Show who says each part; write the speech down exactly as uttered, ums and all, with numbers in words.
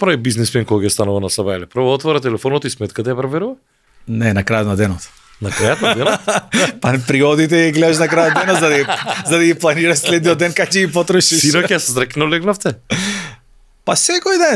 Speaker 1: прави бизнисмен кога ќе станува на Сабајле? Прво отвора телефонот и сметката ја проверува?
Speaker 2: Не, на крајот на денот.
Speaker 1: На крајот на денот?
Speaker 2: Па приодите и гледаш на крајот на денот за да ги, за да ги планираш следниот ден како ќе ги потрошиш.
Speaker 1: Синоќа се зрекно легнавте?
Speaker 2: Па секој ден,